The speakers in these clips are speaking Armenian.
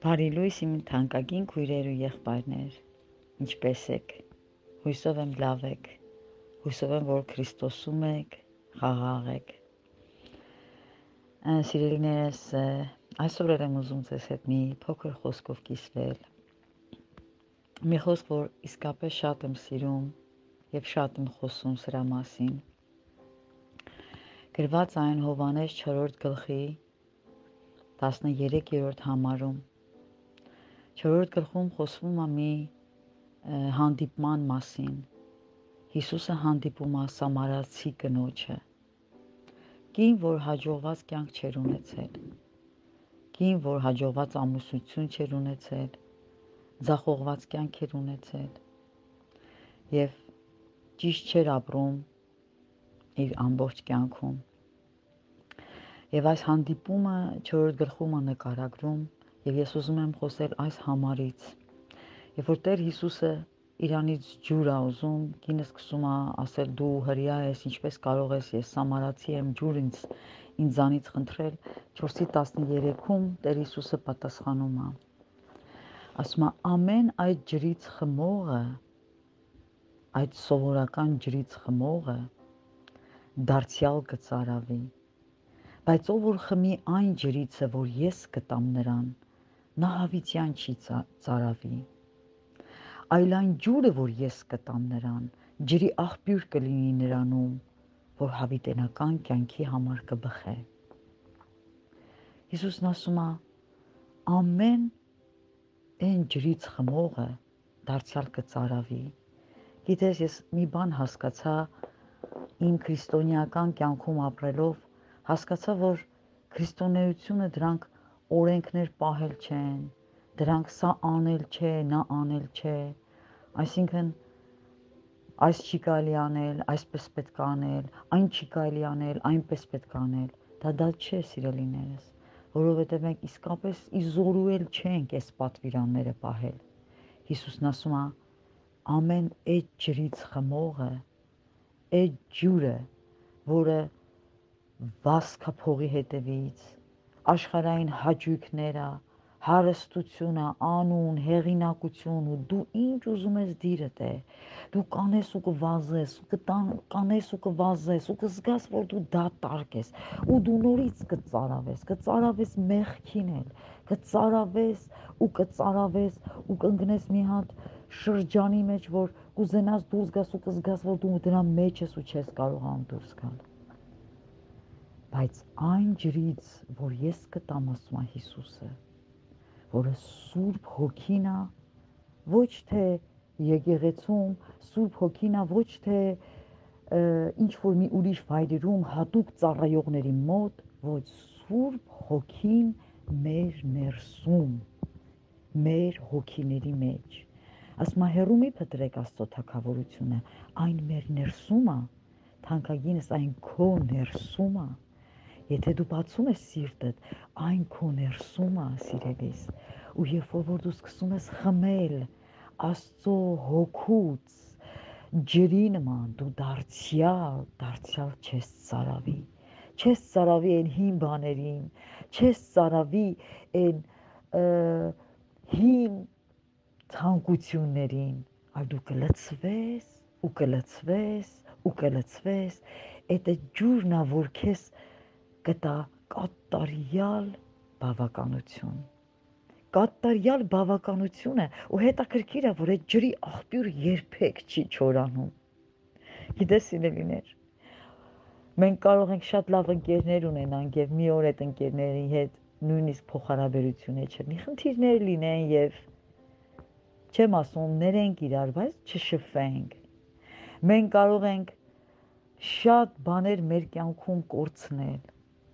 Բարի լույս իմ թանկագին քույրեր ու եղբայրներ, ինչպե՞ս եք, հույսով եմ լավ եք, հույսով եմ, որ Քրիստոսում եք, խաղաղ եք, սիրելիներս, այսօր եմ ուզում ձեզ հետ մի փոքր խոսքով կիսվել, մի խոսք, որ իսկապես շատ եմ սիրում և շատ եմ խոսում սրա մասին, գրված այն Հովհաննես 4 գլխի 13-րդ համարում, 4-րդ գլխում խոսվում է մի հանդիպման մասին, Հիսուսը հանդիպում է սամարացի կնոջը, կին, որ հաջողված կյանք չէր ունեցել, կին, որ հաջողված ամուսնություն չէր ունեցել, ձախողված կյանք էր ունեցել և ճիշտ չէր ապրում իր ամբողջ կյանքում, և այս հանդիպումը 4-րդ գլխում է նկարագրում և ես ուզում եմ խոսել այս համարից, երբ որ Տեր Հիսուսը իրանից ջուր է ուզում, կինը սկսում է ասել դու հրեա ես, ինչպես կարող ես, ես սամարացի եմ, ջուր ինձանից խնդրել, 4:13-ում Տեր Հիսուսը պատասխանում է, ասում է ամեն այդ ջրից խմողը, այդ սովորական ջրից խմողը դարձյալ կծարավի, բայց ով որ խմի այն ջրիցը, որ ես կտամ նրան, նա հավիտյան չի ծարավի, այլ այն ջուրը, որ ես կտամ նրան, ջրի աղբյուր կլինի նրանում, որ հավիտենական կյանքի համար կբխե։ Հիսուսն ասում է, ամեն այն ջրից խմողը դարձյալ կծարավի։ Գիտես, ես մի բան հասկացա իմ քրիստոնեական կյանքում ապրելով, հասկացա, որ քրիստոնեությունը դրանք օրենքներ պահել չեն, դրանք սա անել չէ, նա անել չէ, այսինքն այս չի կարելի անել, այսպես պետք է անել, այն չի կարելի անել, այնպես պետք է անել, դա չէ սիրելիներս, որովհետև մենք իսկապես իզորուել չենք այս պատվիրանները պահել։ Հիսուսն ասում է, ամեն այդ ջրից խմողը, այդ ջուրը, որը վասկա փողի հետևից, աշխարհային հաճույքները, հարստությունը, անուն, հեղինակություն ու դու ինչ ուզում ես դիրդ է, դու կանես ու կվազես, կանես ու կվազես ու կզգաս, որ դու դատարկ ես ու դու նորից կծարավես մեղքին էլ, կծարավես ու կընկնես մի հատ շրջանի մեջ, որ կուզենաս դուրս գաս ու կզգաս, որ դու դրա մեջ ես ու չես կարողանում դուրս գալ։ Բայց այն ջրից, որ ես կտամ, ասում է Հիսուսը, որը Սուրբ Հոգին է, ոչ թե եկեղեցում, Սուրբ Հոգին է, ոչ թե ինչ որ մի ուրիշ վայրերում հատուկ ծառայողների մոտ, ոչ Սուրբ Հոգին մեր ներսում, մեր հոգիների մեջ։ Ասում է հեռու մի փտրեք Աստծո թագավորությունը, այն մեր ներսում է, թանկագինս այն քո ներսում է։ Եթե դու բացում ես սիրտդ, այն քո ներսում է, սիրելիս, ու երբ որ դու սկսում ես խմել Աստծո հոգուց ջրի նման, դու դարձյալ չես ծարավի, չես ծարավի այն հին բաներին, չես ծարավի այն հին ցանկություններին, այլ դու կլցվես ու կլցվես ու կլցվես, այդ ջուրն է, որ քեզ կտա կատարյալ բավականություն։ Կատարյալ բավականությունը ու հետաքրքիր է, որ այդ ջրի աղբյուրը երբեք չի չորանում։ Գիտես սիրելիներ, մենք կարող ենք շատ լավ ընկերներ ունենանք եւ մի օր այդ ընկերների հետ նույնիսկ փոխհարաբերություն չլինի, խնդիրներ լինեն եւ չեմ ասում ներենք իրար, բայց չշփվենք։ Մենք կարող ենք շատ բաներ մեր կյանքում կորցնել,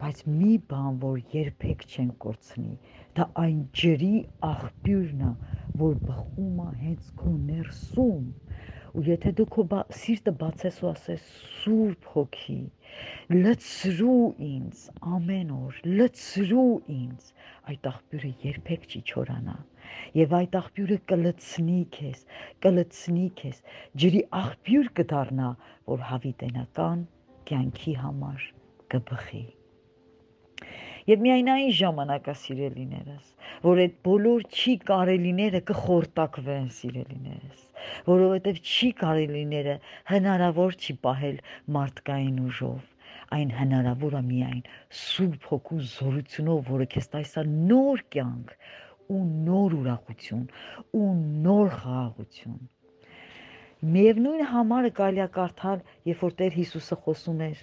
բայց մի բան, որ երբեք չեն կորցնի, դա այն ջրի աղբյուրն է, որ բխում է հենց քո ներսում, ու եթե դու քո սիրտը բացես ու ասես Սուրբ Հոգի, լցրու ինձ ամեն օր, լցրու ինձ, այդ աղբյուրը երբեք չի չորանա, եւ այդ աղբյուրը կլցնի քեզ, ջրի աղբյուր կդառնա, որ հավիտենական կյանքի համար կբխի։ Եվ միայն այն ժամանակա սիրելիներս, որ այդ բոլոր չի կարելիները կխորտակվեն սիրելիներս, որովհետև չի կարելիները հնարավոր չի պահել մարդկային ուժով, այն հնարավոր է միայն Սուրբ Հոգու զորությունով, որը քեզ տալիս է նոր կյանք ու նոր ուրախություն ու նոր խաղաղություն։ Միևնույն համարը կարելի է կարդալ, երբ որ Տեր Հիսուսը խոսում էր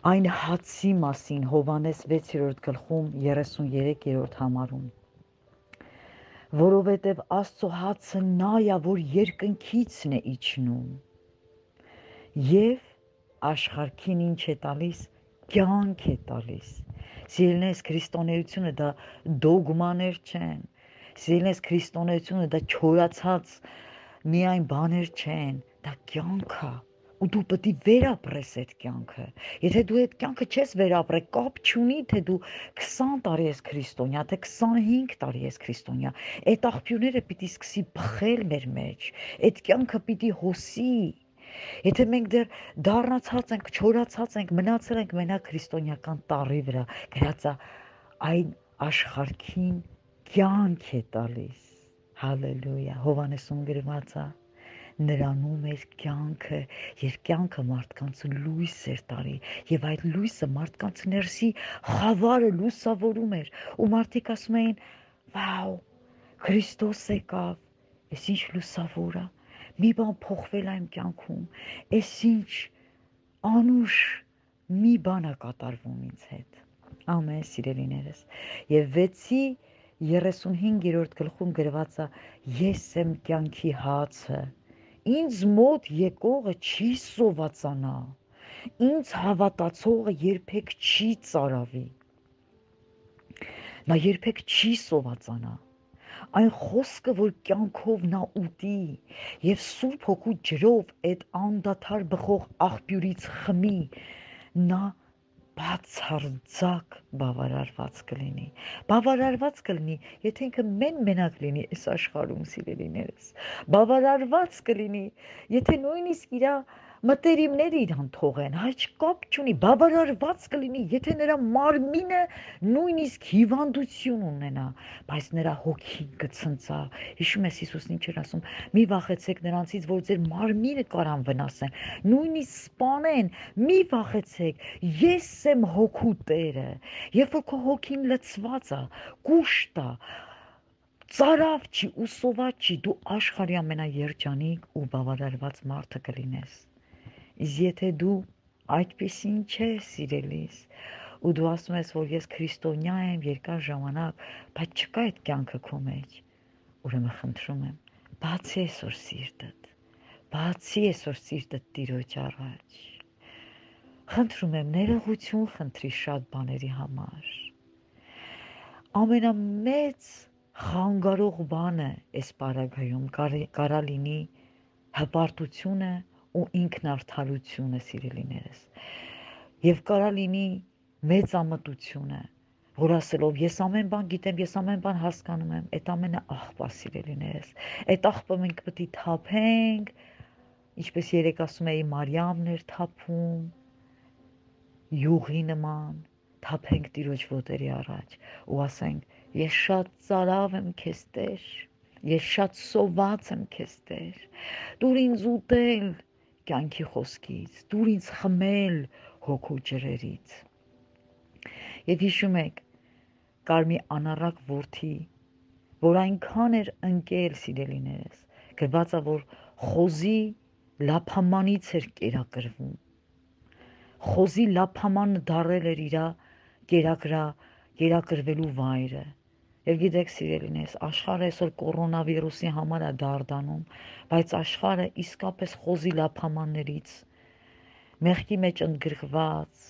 այն հացի մասին Հովհաննես 6-րդ գլխում 33-րդ համարում, որովհետև Աստծո հացը նա է, որ երկնքիցն է իջնում եւ աշխարհքին ինչ է տալիս, կյանք է տալիս։ Սիրելիներս, քրիստոնեությունը դա դոգմաներ չեն, սիրելիներս, քրիստոնեությունը դա չորացած միայն բաներ չեն, դա կյանք է։ Ու դու պետք է վերապրես այդ կյանքը։ Եթե դու այդ կյանքը չես վերապրել, կապ չունի, թե դու 20 տարի ես քրիստոնյա, թե 25 տարի ես քրիստոնյա, այդ աղբյուրները պիտի սկսի բխել մեր մեջ, այդ կյանքը պիտի հոսի։ Եթե մենք դեռ դառնացած ենք, չորացած ենք, մնացել ենք մենակ քրիստոնյական տառի վրա, գրած է այն աշխարհքին կյանք է տալիս։ Հալելույա։ Հովհաննեսում գրված է նրանում էր կյանքը, եւ կյանքը մարդկանց լույս էր տալի, եւ այդ լույսը մարդկանց ներսի խավարը լուսավորում էր, ու մարդիկ ասում էին. «Վաու, Քրիստոս եկավ, այս ինչ լուսավոր է, մի բան փոխվել է իմ կյանքում, այս ինչ անուշ մի բան է կատարվում ինձ հետ»։ Ամեն սիրելիներս, եւ 6-35-րդ գլխում գրված է. «Ես եմ կյանքի հացը, ինձ մոտ եկողը չի սովածանա, ինձ հավատացողը երբեք չի ծարավի»։ Նա երբեք չի սովածանա։ Այն խոսքը, որ կյանքով նա ուտի եւ Սուրբ Հոգու ջրով այդ անդադար բխող աղբյուրից խմի, նա բացարձակ բավարարված կլինի։ Բավարարված կլինի, եթե ինքը մենակ լինի այս աշխարհում, սիրելիներս։ Բավարարված կլինի, եթե նույնիսկ իր մտերիմները իրան թողեն, հայ կապ չունի, բավարարված կլինի, եթե նրա մարմինը նույնիսկ հիվանդություն ունենա, բայց նրա հոգին կցնծա։ Հիշում ես Հիսուսն ինչ էր ասում. «Մի վախեցեք նրանցից, որ ձեր մարմինը կարան վնասեն, նույնիսկ սպանեն, մի վախեցեք, ես եմ հոգու Տերը»։ Երբ որ քո հոգին լցված է, կուշտ է, ծարավ չի ու սոված չի, դու աշխարհի ամենաերջանիկ ու բավարարված մարդը կլինես։ Իսկ եթե դու այդպեսին չես, սիրելիս, ու դու ասում ես, որ ես քրիստոնյա եմ երկար ժամանակ, բայց չկա այդ կյանքը քո մեջ, ուրեմն խնդրում եմ, բացի այսօր սիրտդ, բացի այսօր սիրտդ Տիրոջ առաջ։ Խնդրում եմ, ներողություն խնդրի շատ բաների համար։ Ամենամեծ խանգարող բանը այս պարագայում կարա լինի հպարտությունը ու ինքնարդարությունը, սիրելիներս, եւ կարա լինի մեծամտությունը, որ ասելով ես ամեն բան գիտեմ, ես ամեն բան հասկանում եմ, այդ ամենը աղբ է, սիրելիներս, այդ աղբը մենք պետք է թափենք, ինչպես երեք ասում էի, Մարիամն էր թափում, յուղի նման, թափենք Տիրոջ ոտերի առաջ ու ասենք. «Ես շատ ծարավ եմ քեզ, Տեր, ես շատ սոված եմ քեզ, Տեր, դուր ինձ ուտել կյանքի խոսքից, դուր ինձ խմել հոգու ջրերից»։ Եվ հիշում եք, կար մի անառակ որդի, որ այնքան էր ընկել, սիրելիներս, գրված է, որ խոզի լափամանից էր կերակրվում, խոզի լափամանը դարել էր իր կերակրվելու վայրը։ Եվ գիտեք, սիրելիներս, աշխարհը այսօր կորոնավիրուսի համար է դարդանում, բայց աշխարհը իսկապես խոզի լափամաններից, մեղքի մեջ ընդգրկված,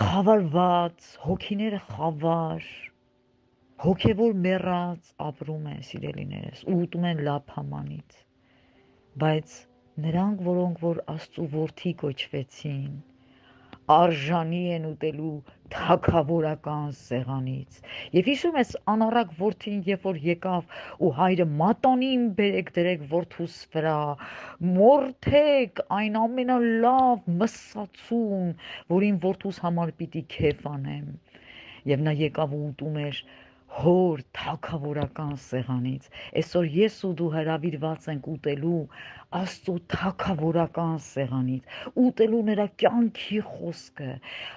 խավարված, հոգիները խավար, հոգևոր մեռած ապրում են, սիրելիներս, ու ուտում են լափամանից։ Բայց նրանք, որոնք որ Աստծո որդի կոչվեցին, արժանի են ուտելու թագավորական սեղանից։ Եվ հիշում ես անառակ որդին, երբ որ եկավ ու հայրը մատանին բերեք դրեք որդուս վրա, մորթեք այն ամենալավ մսացուն, որին որդուս համար պիտի քեֆ անեմ։ Եվ նա եկավ ու ուտում էր հոր թագավորական սեղանից։ Այսօր ես ու դու հրավիրված ենք ուտելու Աստծո թագավորական սեղանից, ուտելու նրա կյանքի խոսքը,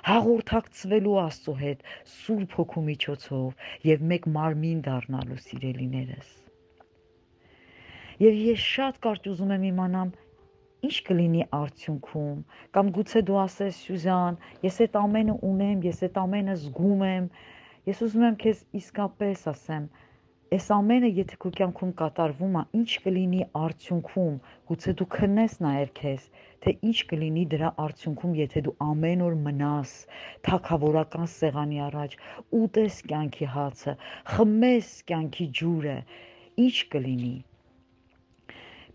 հաղորդակցվելու Աստծո հետ Սուրբ Հոգու միջոցով եւ մեկ մարմին դառնալու սիրելիներս։ Եվ ես շատ կարճ ուզում եմ իմանամ ինչ կլինի արդյունքում, կամ գուցե դու ասես Սյուզան, ես այդ ամենը ունեմ, ես այդ ամենը զգում եմ, ես ուզում եմ քեզ իսկապես ասեմ, այս ամենը եթե քո կյանքում կատարվում է, ինչ կլինի արդյունքում, գուցե դու քննես նայեր քեզ, թե ինչ կլինի դրա արդյունքում, եթե դու ամեն օր մնաս թագավորական սեղանի առաջ, ուտես կյանքի հացը, խմես կյանքի ջուրը, ինչ կլինի։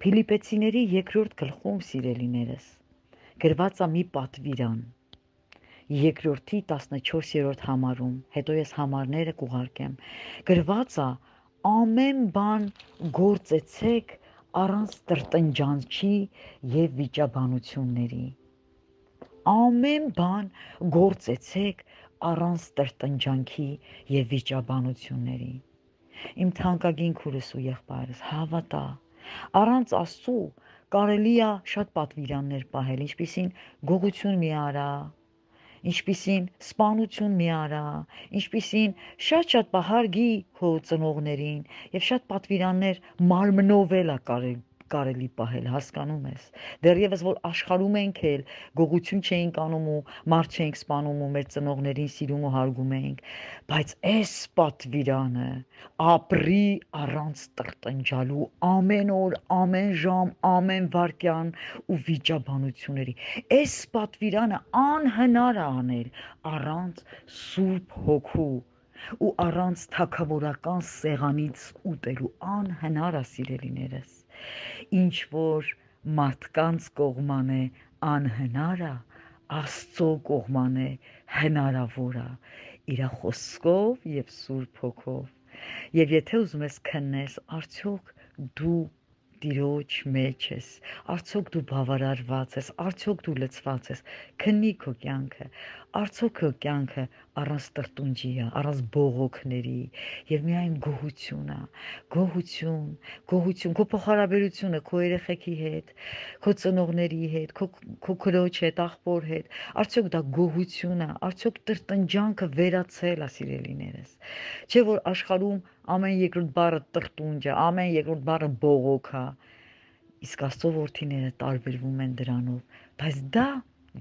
Փիլիպեցիների 2-րդ գլխում, սիրելիներս, գրված է մի պատվիրան, 2-րդի 14-րդ համարում, հետո ես համարները կուղարկեմ, գրված է ամեն բան գործեցեք առանց տրտնջանքի եւ վիճաբանությունների։ Ամեն բան գործեցեք առանց տրտնջանքի եւ վիճաբանությունների։ Իմ թանկագին քուրս ու եղբայրս, հավատա, առանց Աստծու կարելի է շատ պատվիրաններ պահել, ինչպիսին գողություն մի արա, ինչպիսին սպանություն մի արա, ինչպիսին շատ հարգի քո ծնողներին եւ շատ պատվիրաններ մարմնով էլ կարելի պահել, հասկանում ես։ Դեռևս որ աշխարհում ենք էլ գողություն չէինք անում ու մարդ չէինք սպանում ու մեր ծնողներին սիրում ու հարգում էինք, բայց այս պատվիրանը ապրի առանց տրտնջալու ամեն օր, ամեն ժամ, ամեն վայրկյան ու վիճաբանությունների։ Այս պատվիրանը անհնար է անել առանց Սուրբ Հոգու ու առանց թագավորական սեղանից ուտելու, անհնար է, սիրելիներս։ Ինչ որ մարդկանց կողման է անհնար է, Աստծո կողման է հնարավոր է, իր խոսքով եւ Սուրբ Հոգով։ Եվ եթե ուզում ես քննես, արդյոք դու Տիրոջ մեջ ես, արդյոք դու բավարարված ես, արդյոք դու լցված ես, քննի քո կյանքը, արդյոք քո կյանքը առանց տրտունջի է, առանց բողոքների եւ միայն գոհություն է, գոհություն, քո փոխհարաբերությունը քո երեխեքի հետ, քո ծնողների հետ, քո քրոջ հետ, աղբոր հետ, արդյոք դա գոհություն է, արդյոք տրտնջանքը վերացել է, սիրելիներս։ Չէ որ աշխարհում ամեն երկրորդ բառը տրտունջ է, ամեն երկրորդ բառը բողոք է, իսկ Աստծո որդիները տարբերվում են դրանով, բայց դա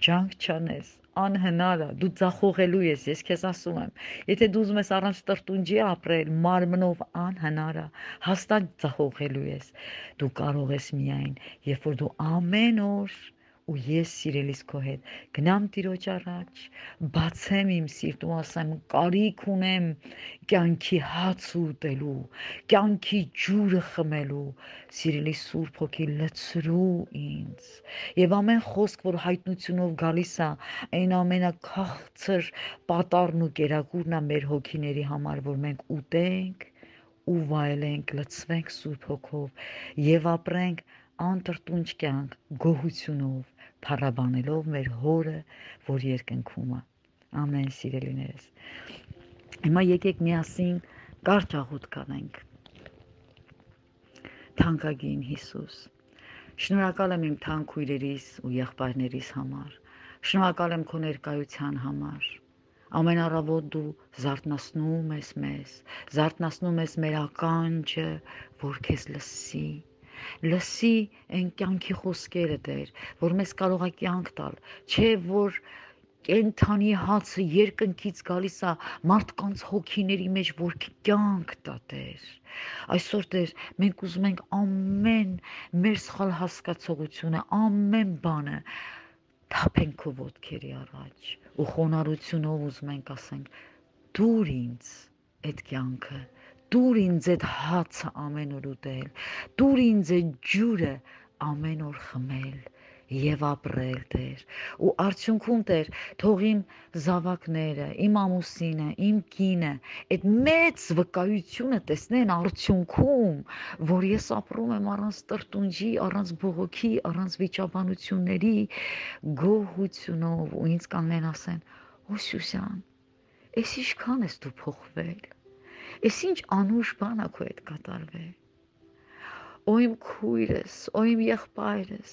ջանք չանես, անհնար է, դու ձախողելու ես, ես քեզ ասում եմ, եթե դու ուզում ես առանց տրտունջի ապրել, մարմնով անհնար է, հաստատ ձախողելու ես, դու կարող ես միայն, երբ որ դու ամեն օր ու ես սիրելիս քո հետ գնամ Տիրոջ առաջ, բացեմ իմ սիրտ ու ասեմ կարիք ունեմ կյանքի հաց ուտելու, կյանքի ջուրը խմելու, սիրելի Սուրբ Հոգի լցրու ինձ եւ ամեն խոսք, որ հայտնությունով գալիս է, այն ամենաքաղցր պատառն ու կերակուրն է մեր հոգիների համար, որ մենք ուտենք ու վայելենք, լցվենք Սուրբ Հոգով եւ ապրենք անտրտունջ կյանք գոհությունով, փառաբանելով մեր Հորը, որ երկնքում է։ Ամեն, սիրելիներս։ Հիմա եկեք միասին կարճ աղոթք անենք։ Թանկագին Հիսուս, շնորհակալ եմ իմ թանկ քույրերիս ու եղբայրներիս համար, շնորհակալ եմ քո ներկայության համար։ Ամեն առավոտ դու զարթնացնում ես մեզ, զարթնացնում ես մեր ականջը, որ քեզ լսի այն կյանքի խոսքերը Տեր, որ մեզ կարող է կյանք տալ, չէ որ կենթանի հացը երկնքից գալիս է մարդկանց հոգիների մեջ, որ կյանք տա Տեր։ Այսօր Տեր, մենք ուզում ենք ամեն մեր սխալ հասկացողությունը, ամեն բանը թափենք քո ոտքերի առաջ ու խոնարհությունով ուզում ենք ասենք դուր ինձ այդ կյանքը, դուր ինձ այդ հացը ամեն օր ուտել, դուր ինձ այդ ջուրը ամեն օր խմել եւ ապրել Տեր ու արդյունքում Տեր թող իմ զավակները, իմ ամուսինը, իմ կինը այդ մեծ վկայությունը տեսնեն արդյունքում, որ ես ապրում եմ առանց տրտունջի, առանց բողոքի, առանց վիճաբանությունների գոհությունով ու ինձ կանգնեն ասեն «Օ Սյուսյան, էս ինչքան ես դու փոխվել, էս ինչ անուշ բան ա քո հետ կատարվել, Օ իմ քույրս, օ իմ եղբայրս,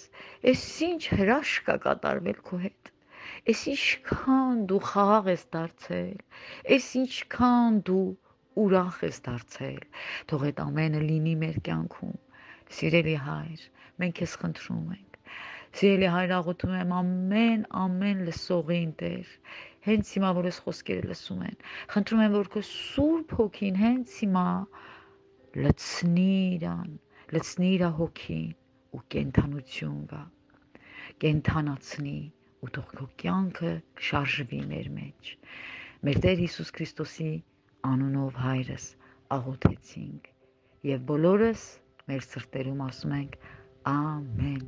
էս ինչ հրաշք ա կատարվել քո հետ, էս ինչքան դու խաղաղ ես դարձել, էս ինչքան դու ուրախ ես դարձել, թող այդ ամենը լինի մեր կյանքում, սիրելի Հայր, մենք քեզ խնդրում ենք, սիրելի Հայր, աղոթում եմ ամեն լսողին Տեր, հենց հիմա որ ես խոսքերը լսում են, խնդրում եմ որ քո Սուրբ Հոգին հենց հիմա լցնի իրան, լցնի իր հոգին ու կենթանություն գա, կենթանացնի ու թող քո կյանքը շարժվի մեր մեջ։ Մեր Տեր Հիսուս Քրիստոսի անունով Հայրս աղոթեցինք եւ բոլորս մեր սրտերում ասում ենք ամեն։